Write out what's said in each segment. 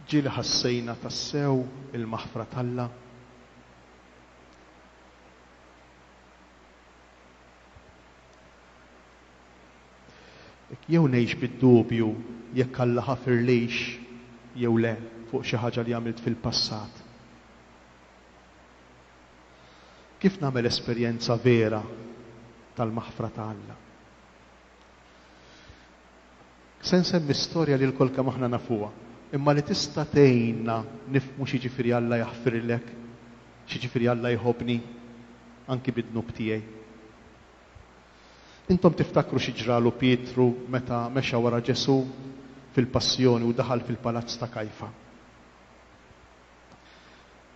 Ġieli ħassejna tassew il-maħfra t'Alla? Jew ngħix bid-dubju jekk Alla ħafirlix jew le fuq xi ħaġa li għamilt fil-passat. Kif nagħmel esperjenza vera tal-maħfra ta' Alla? Se nsemmi storja li lkoll kemm aħna nafuha, imma li tista' tgħinna nifhmu x'jiġifieri Alla jaħfirlek, x'jiġifieri Alla jħobbni, anki bid-dnub tiegħi. Intom tiftakru xi ġralu Pietru meta mexa wara Ġesù fil-passjoni u daħal fil-palazz ta' Kajfa.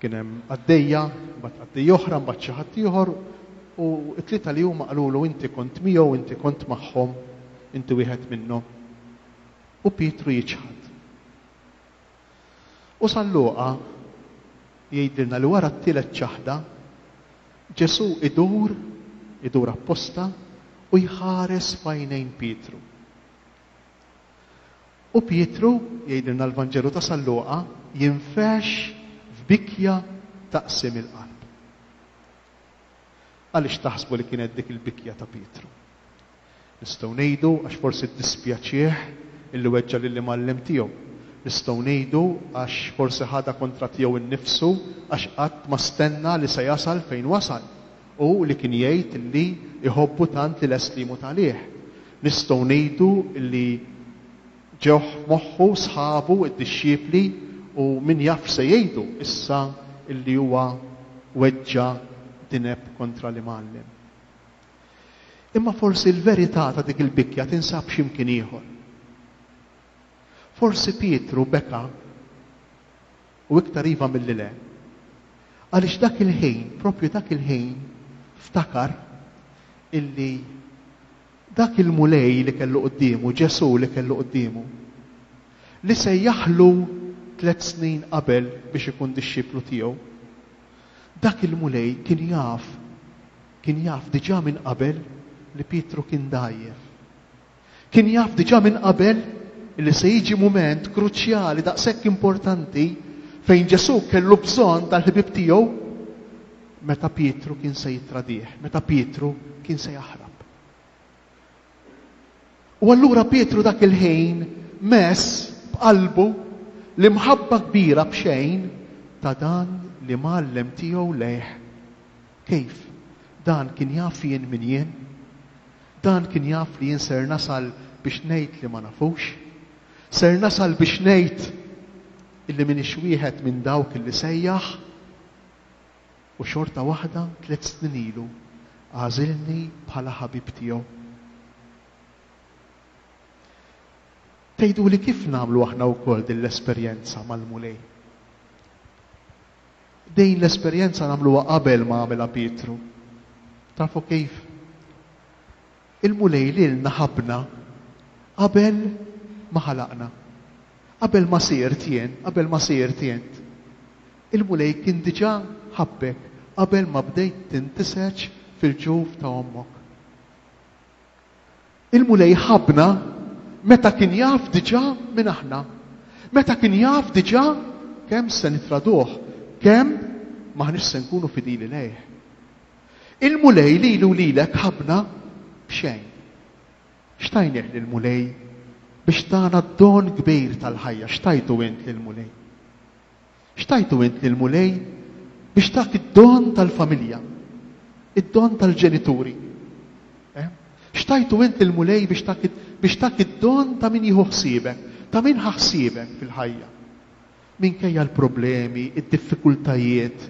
Kien hemm qaddejja, mbagħad qaddejja oħra, mbagħad xi ħadd ieħor, u t-tlieta li huma qalulu inti kont miegħu, inti kont magħhom, inti wieħed minnhom. U Pietru jiċħad. U San Luqa jgħidilna li wara t-tielet ċaħda, Ġesù idur, idur apposta, u jħares f'għajnejn Pietru. U Pietru, jgħidilna l-Vanġelu ta' San Luqa, jinfexx f'bikja ta' qsim il-qalb. Għaliex taħsbu li kienet dik il-bikja ta' Pietru? Nistgħu ngħidu għax forsi ddispjaċih illi weġġa' lill-imgħallem tiegħu. Nistgħu ngħidu għax forsi ħadha kontra tiegħu nnifsu għax qatt ma stenna li se jasal fejn wasal u li kien jgħid li jħobbu tant li lest li jmut għalih. Nistgħu ngħidu li ġewh f'moħħu sħabu d-dixxipli u min jaf x'se jgħidu issa li huwa weġġa' dineb kontra l-Imgħallem. Imma forsi l-verità ta' dik il-bikja tinsab xi mkien ieħor. Forsi Pietru beka u iktar iva milli le. Għaliex dak il-ħin, propju dak il-ħin, ftakar illi Dak il-Mulej li kellu quddiemu, Ġesù li kellu quddiemu, li sejjaħlu tlett snin qabel biex ikun dixxiplu tiegħu, dak il-Mulej kien jaf, kien jaf diġà minn qabel li Pietru kien dgħajjef. Kien jaf diġà minn qabel li se jiġi mument kruċjali daqshekk importanti fejn Ġesù kellu bżonn tal-ħbieb tiegħu meta Pietru kien se jittradih, meta Pietru kien se jaħrab. U allura Pietru dak il-ħin mess b'qalbu l-imħabba kbira b'xejn ta' dan li mgħallem tiegħu lejh. Kif? Dan kien jaf jien min jien? Dan kien jaf li jien ser nasal biex ngħid li ma nafux? Ser nasal biex ngħid illi m'iniex wieħed minn dawk illi sejjaħ? U xorta waħda tlett snin ilu għażilni bħala ħabib tiegħu. Tgħiduli kif nagħmlu aħna wkoll din l-esperjenza mal-Mulej? Din l-esperjenza nagħmluha qabel ma għamilha Pietru. Tafu kif? Il-Mulej lilna ħabbna qabel ma ħalaqna. Qabel ma sirt jien, qabel ma sirt int. Il-Mulej kien diġà ħabbek qabel ma bdejt tintiseġ fil-ġuf ta' ommok. Il-Mulej ħabbna meta kien jaf diġà min aħna. Meta kien jaf diġà kemm se nitraduh, kemm m'aħniex se nkunu fidili lejh. Il-Mulej lili u lilek ħabbna b'xejn. X'tajnieh lill-Mulej biex tana d-don kbir tal-ħajja? X'tajtu int lill-Mulej? X'tajtu int lill-Mulej biex tak id-don tal-familja, id-don tal-ġenituri? Eh? X'tajtu int lill-Mulej biex tak biex tak id-don ta' min jieħu ħsiebek, ta' min ħa ħsiebek fil-ħajja? Minkejja l-problemi, id-diffikultajiet,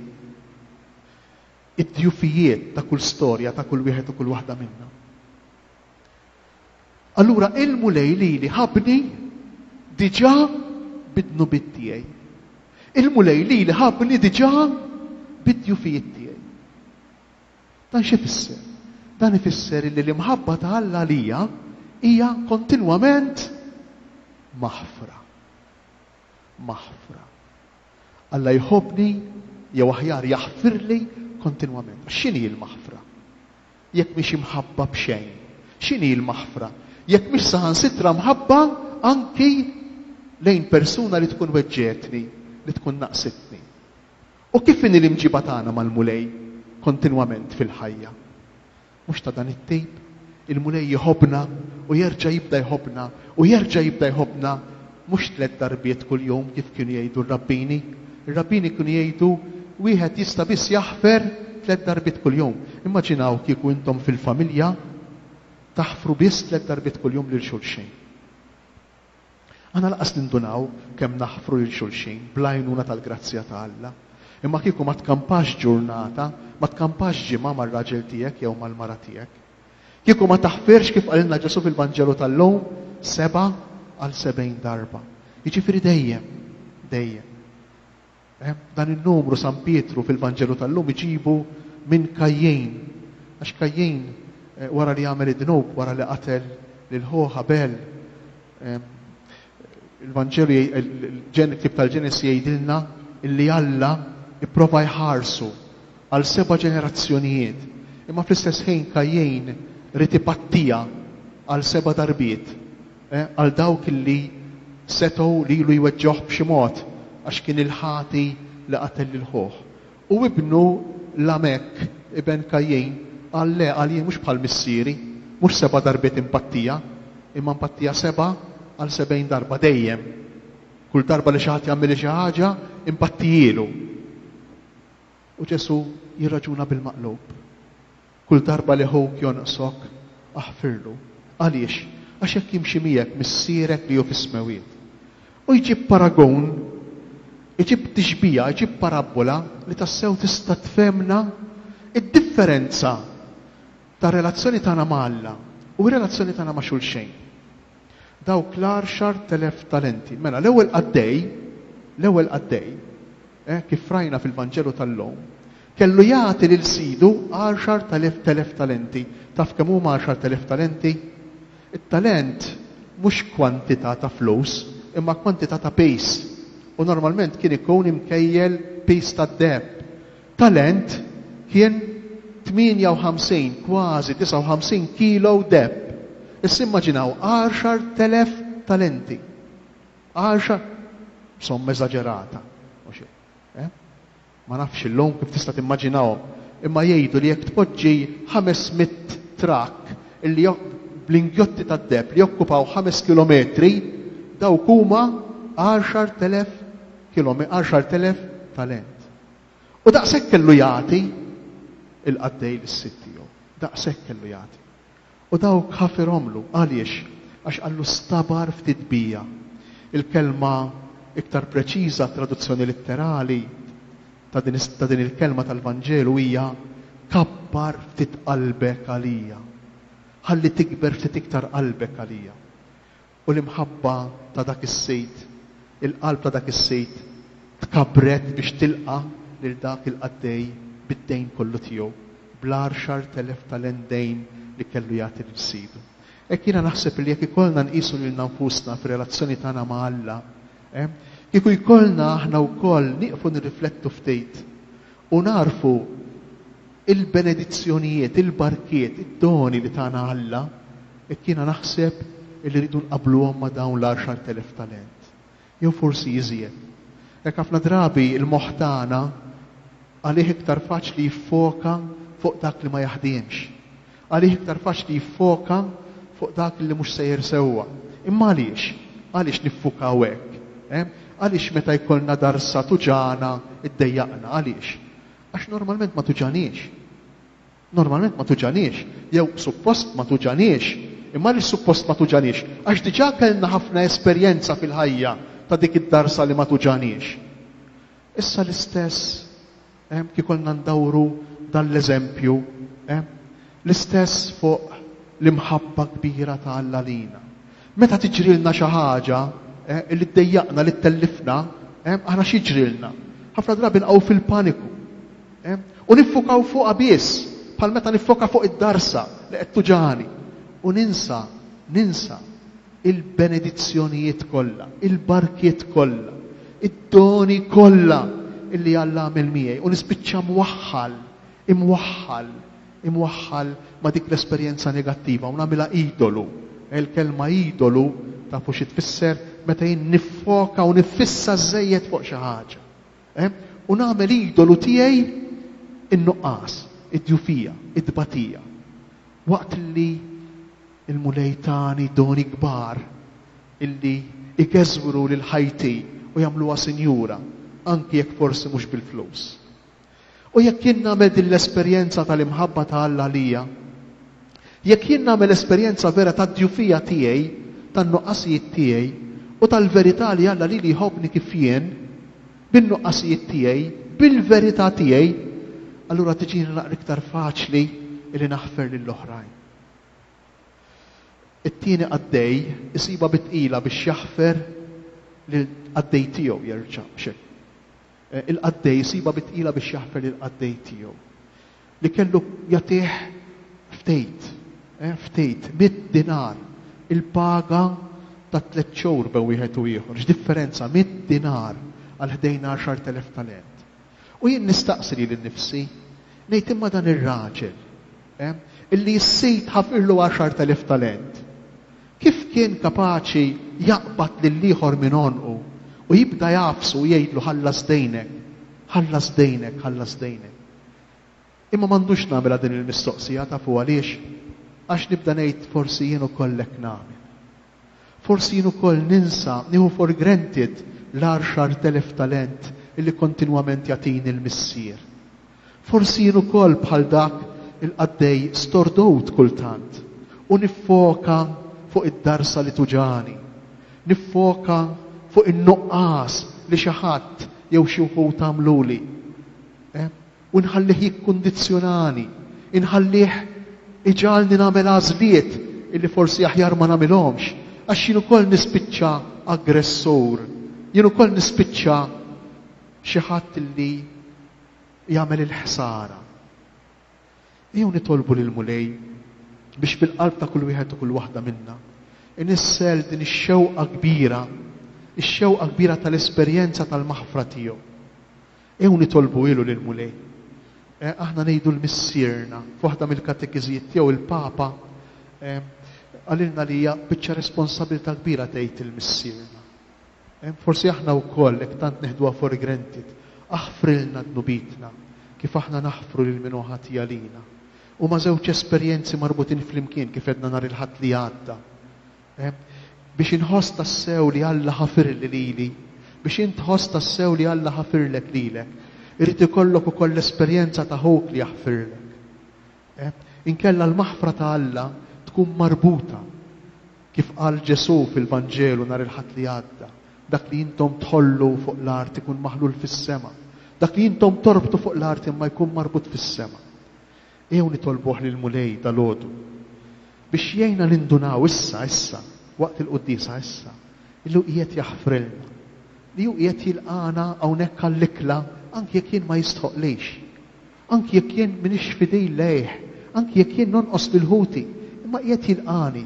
id-djufijiet ta' kull storja ta' kull wieħed u kull waħda minna. Allura il-Mulej lili ħabbni diġà bid-dnubiet tiegħi. Il-Mulej lili ħabbni diġà bid-djufijiet tiegħi. Dan x'ifisser? Dan ifisser li l-imħabba ta' Alla għalija hija kontinwament maħfra. Maħfra. Alla jħobbni jew aħjar jaħfirli kontinwament. Għax x'inhi l-maħfra? Jekk mhix imħabba b'xejn. X'inhi l-maħfra? Jekk mhix saħansitra mħabba anki lejn persuna li tkun weġġgħetni, li tkun naqsitni? U kif inhi l-imġiba tagħna mal-Mulej kontinwament fil-ħajja? Mhux ta' dan it-tip? Il-Mulej jħobbna u jerġa' jibda jħobbna u jerġa' jibda jħobbna mhux tlett darbiet kuljum kif kienu jgħidu r-rabbini. Ir-rabbini kienu jgħidu wieħed jista' biss jaħfer tlett darbiet kuljum. Immaġinaw kieku intom fil-familja taħfru biss tlett darbiet kuljum lil xulxin. Aħna lanqas nindunaw kemm naħfru lil xulxin bl-għajnuna tal-grazzja ta' Alla. Imma kieku ma tkampax ġurnata, ma tkampax ġimgħa mar-raġel tiegħek jew mal-mara tiegħek. Kieku ma taħfirx kif qalilna Ġesù fil-Vanġelu tal-lum, sebgħa għal 70 darba. Jiġifieri dejjem, dejjem. Eh, dan in-numru San Pietru fil-Vanġelu tal-lum iġibu minn Kajjin. Għax Kajjin eh, wara li għamel id-dnub, wara li qatel lil ħuh Abel, eh, il-Vanġelu il-ktib tal-Ġenesi jgħidilna illi Alla ipprova jħarsu għal seba' ġenerazzjonijiet. Imma fl-istess ħin Kajjin ried ipattija għal seba' darbiet. Għal dawk li setgħu lilu jweġġgħuh b'xi mod għax kien il-ħati li qatel lil ħuh. U ibnu Lamek, iben Kajjin, qal, Le, qal, jien mhux bħal missieri, mhux seba' darbiet inpattija, imma npattija seba' għal 70 darba, dejjem. Kull darba li xi ħadd jagħmilli xi ħaġa, inpattijielu. U Ġesù jirraġuna bil-maqlub. Kull darba li ħuk jonqsok, aħfirlu. Għaliex? Għax hekk jimxi miegħek Missierek li hu fis-smewwiet. U jġib paragun, iġib tixbiha, iġib parabbola li tassew tista' tfehmna d-differenza tar-relazzjoni tagħna ma' Alla u r-relazzjoni tagħna ma' xulxejn. Dawk l-10,000 talenti. Mela, l-ewwel qaddej, l-ewwel qaddej, eh, kif rajna fil-Vanġelu tal-lum, kellu jagħti lil sidu 10,000 talenti. Taf kemm huma 10,000 talenti? It-talent mhux kwantità ta' flus, imma kwantità ta' piż. U normalment kien ikun imkejjel piż tad-deheb. Talent kien 58, kważi 59 kilo deheb. Issa immaġinaw 10,000 talenti. Għaxar, somma eżaġerata. Mhux hekk. Eh? Ma nafx illum kif tista' timmaġinahom, imma jgħidu li jekk tpoġġi 500 trakk illi bl-ingjotti tad-deheb li jokkupaw 5 kilometri, dawk huma 10,000 kilome 10,000 talent. U daqshekk kellu jagħti il-qaddej lis-sid tiegħu. Daqshekk kellu jagħti. U dawk ħafirhomlu. Għaliex? Għax qallu stabar ftit bija. Il-kelma iktar preċiża, traduzzjoni litterali ta' din, ta' din il-kelma tal-Vanġelu hija kabbar ftit qalbek għalija. Ħalli tikber ftit iktar qalbek għalija. U l-imħabba ta' dak is-sid, il-qalb ta' dak is-sid tkabbret biex tilqa' lil dak il-qaddej bid-dejn kollu tiegħu, bl-10,000 talent dejn li kellu jagħti lil sidu. Hekk jiena naħseb li jekk ikollna nqisu lilna nfusna fir-relazzjoni tagħna ma' Alla, eh, kieku jkollna aħna wkoll nieqfu nirriflettu ftit u nagħrfu il-benedizzjonijiet, il-barkiet, id-doni li tana Alla, hekk jiena naħseb illi rridu nqabbluhom ma' dawn l-10,000 talent. Jew forsi iżjed. Hekk ħafna drabi l-moħħ tagħna għalih iktar faċli jiffoka fuq dak li ma jaħdimx. Għalih iktar faċli jiffoka fuq dak li mhux sejjer sewwa. Imma għaliex? Għaliex niffukaw hekk? Eh? Għaliex meta jkollna darsa tuġagħna iddejjaqna? Għaliex? Għax normalment ma tuġaniex. Normalment ma tuġaniex, jew suppost ma tuġaniex. Imma għaliex suppost ma tuġaniex? Għax diġà kellna ħafna esperjenza fil-ħajja ta' dik id-darsa li ma tuġaniex. Issa l-istess, eh, kiekolna ndawru dan l-eżempju, eh, l-istess fuq l-imħabba kbira ta' Alla lina. Meta tiġrilna xi ħaġa eh, li ddejjaqna, li ttellifna, eh, aħna x'jiġrilna? Ħafna drabi nqgħu fil-paniku. Eh, u niffukaw fuqha biss, bħal meta niffoka fuq id-darsa li qed tuġani. U ninsa, ninsa il-benedizzjonijiet kollha, il-barkiet kollha, id-doni kollha illi Alla għamel miegħi u nispiċċa mwaħħal, imwaħħal imwaħħal ma' dik l-esperjenza negattiva u nagħmilha idolu. Il-kelma idolu tafu xi tfisser? meta jien niffoka u niffissa żejjed fuq xi ħaġa. Eh? U nagħmel idolu tiegħi in-nuqqas, id-djufija, id-tbatija. Waqt li il-Mulej tani doni kbar illi igeżwru lil ħajti u jagħmluha sinjura, anki jekk forsi mhux bil-flus. U jekk jien nagħmel din l-esperjenza tal-imħabba ta' Alla għalija, jekk jien nagħmel esperjenza vera tad-djufija tiegħi, tan-nuqqasijiet tiegħi, u tal-verità li Alla lili jħobbni kif jien, bin-nuqqasijiet tiegħi, bil-verità tiegħi, allura tiġini naqra iktar faċli li naħfer lill-oħrajn. It-tieni qaddej isibha bi tqila biex jaħfer lill-qaddej tiegħu jerġa' xek. Eh, il-qaddej isibha bi tqila biex jaħfer lill-qaddej tiegħu. Li kellu jagħtih ftejt, eh, ftejt, mit dinar, il-paga ta' tliet xhur bejn wieħed u ieħor. X'differenza, mit dinar għal ħdejn 10,000 talent. U jien nistaqsi lili nnifsi, ngħid imma dan ir-raġel, eh, illi s-sid ħafirlu 10,000 talent, kif kien kapaċi jaqbad lill-ieħor minn għonqu u jibda jagħfsu u jgħidlu ħallas dejnek, ħallas dejnek, ħallas dejnek. Imma m'għandux nagħmilha din il-mistoqsija tafu għaliex? Għax nibda ngħid forsi jien ukoll hekk nagħmel. Forsi jien ukoll ninsa, nieħu for granted l-10,000 talent illi kontinwament jagħtini l-Missier. Forsi jien ukoll bħal dak il-qaddej stordut kultant u niffoka fuq id-darsa li tuġagħni, niffoka fuq in-nuqqas li xi ħadd jew xi wħud għamluli. Eh? U nħallih jikkundizzjonani, inħallih iġagħalni nagħmel għażliet illi forsi aħjar ma nagħmilhomx, għax jien ukoll nispiċċa aggressur, jien ukoll nispiċċa xi ħadd illi jagħmel il-ħsara. Ejjew nitolbu lill-Mulej biex fil-qalb ta' kull wieħed u kull waħda minna inissel din ix-xewqa kbira, ix-xewqa kbira tal-esperjenza tal-maħfra tiegħu. Ejjew nitolbuhielu lill-Mulej. Eh, aħna ngħidu l-Missierna, f'waħda mill-katekiżijiet tiegħu il-Papa eh, qalilna li hija biċċa responsabilità kbira tgħid il-Missierna. Eh, forsi aħna wkoll hekk tant neħduha for granted. Aħfrilna dnubitna kif aħna naħfru lil min hu ħati għalina. Huma żewġ esperjenzi marbutin flimkien kif għedna nhar il-Ħadd li għadda. Eh, biex inħoss tassew li Alla ħafirli lili, biex int tħoss tassew li Alla ħafirlek lilek, irid ikollok ukoll l-esperjenza ta' ħuk li jaħfirlek. Eh, inkella l-maħfra ta' Alla tkun marbuta kif qal Ġesù fil-Vanġelu nhar il-Ħadd li għadda, dak li intom tħollu fuq l-art ikun maħlul fis-sema, dak li intom torbtu fuq l-art imma jkun marbut fis-sema. Ejjew nitolbuh lill-Mulej dalgħodu biex jgħinna nindunaw issa, issa, waqt il-quddiesa issa, illi hu qiegħed jaħfrilna, li hu qiegħed jilqagħna hawnhekk għall-ikla anki jekk jien ma jistħoqlix, anki jekk jien m'iniex fidil lejh, anki jekk jien nonqos lil ħuti, imma qiegħed jilqagħni,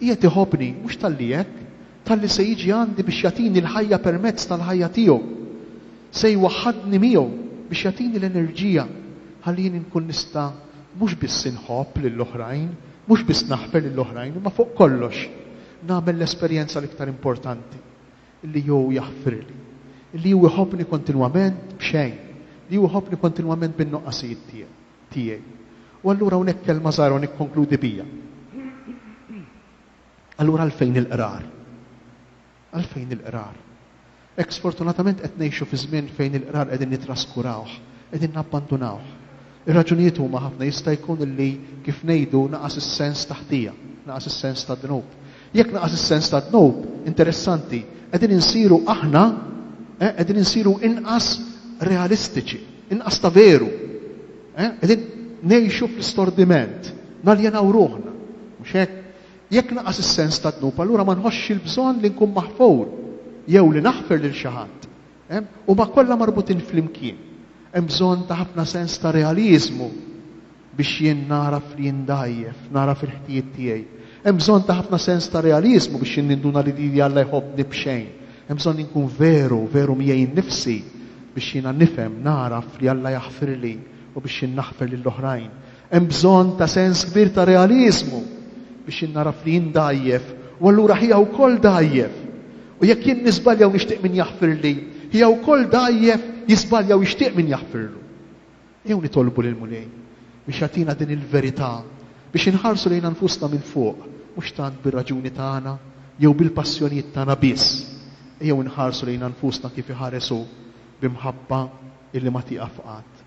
qiegħed iħobbni, mhux talli hekk, talli se jiġi għandi biex jagħtini l-ħajja permezz tal-ħajja tiegħu. Se jwaħħadni miegħu biex jagħtini l-enerġija ħalli jien inkun nista' mhux biss inħobb lill-oħrajn, mhux biss naħfer lill-oħrajn, imma fuq kollox nagħmel l-esperjenza l-iktar importanti, li hu jaħfirli, li hu jħobbni kontinwament b'xejn, li hu jħobbni kontinwament bin-nuqqasijiet tiegħi. U allura hawnhekk kelma żgħira u nikkonkludi bija. Allura għalfejn il-qrar? Għalfejn il-qrar? Hekk sfortunatament qed ngħixu fi żmien fejn il-qrar qegħdin nittraskurawh, qegħdin nabbandunawh. Ir-raġunijiet huma ħafna, jista' jkun li kif ngħidu naqas is-sens ta' ħtija, naqas is-sens ta' dnub. Jekk naqas is-sens ta' dnub, interessanti, qegħdin insiru aħna, eh, qegħdin insiru inqas realistiċi, inqas ta' veru. Eh, qegħdin ngħixu fl-istordiment, naljenaw ruħna. Mhux hekk? Jekk naqas is-sens tad-dnub, allura ma nħossx il-bżonn li nkun maħfur jew li naħfer lil xi ħadd. Huma kollha marbutin flimkien. Hemm bżonn ta' ħafna sens ta' realiżmu biex jien nagħraf li jien dgħajjef, nagħraf il-ħtijiet tiegħi. Hemm bżonn ta' ħafna sens ta' realiżmu biex jien ninduna li lili Alla jħobbni b'xejn. Hemm bżonn li nkun veru, veru miegħi nnifsi biex jiena nifhem, nagħraf li Alla jaħfirli u biex jien naħfer lill-oħrajn. Hemm bżonn ta' sens kbir ta' realiżmu biex jien nagħraf li jien dgħajjef u allura ħija wkoll dgħajjef. U jekk jien niżbalja u nixtieq min jaħfirli, hija wkoll dgħajjef jiżbalja u jixtieq min jaħfirlu. Ejjew nitolbu lill-Mulej biex jagħtina din il-verità biex inħarsu lejna nfusna minn fuq, mhux tant bir-raġuni tagħna jew bil-passjonijiet tagħna biss. Ejjew inħarsu lejna nfusna kif iħares hu, bi mħabba illi ma tieqaf qatt.